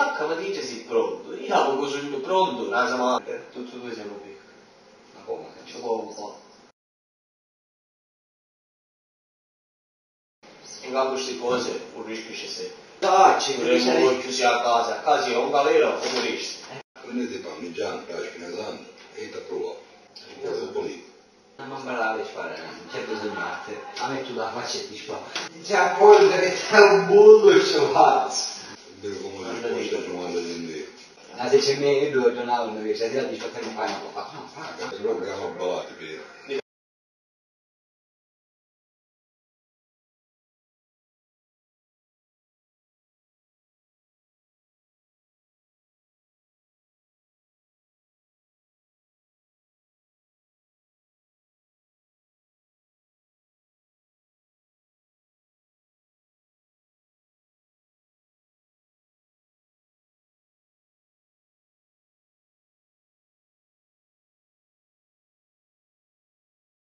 H ma dice sì pronto, io avevo subito pronto, la siamo tutti e due siamo qui. Ma come? Ci può un po'. In capo queste cose un rischio c'è sempre. Dai, ci Dovremmo voi chiusi a casa è un galero come rischio. Prendete parmigiano, spina santo e ti approvo. Dopo lì. Non me la devi fare, non c'è bisogno di arte. A me tu la faccia e ti sparo. C'è poi che c'è un mondo e ce faccio. Vedo come si sposta trovando in Ma se c'è me, io devo tornare a una università, ti faccio un paio di po'. Però che hanno ballati per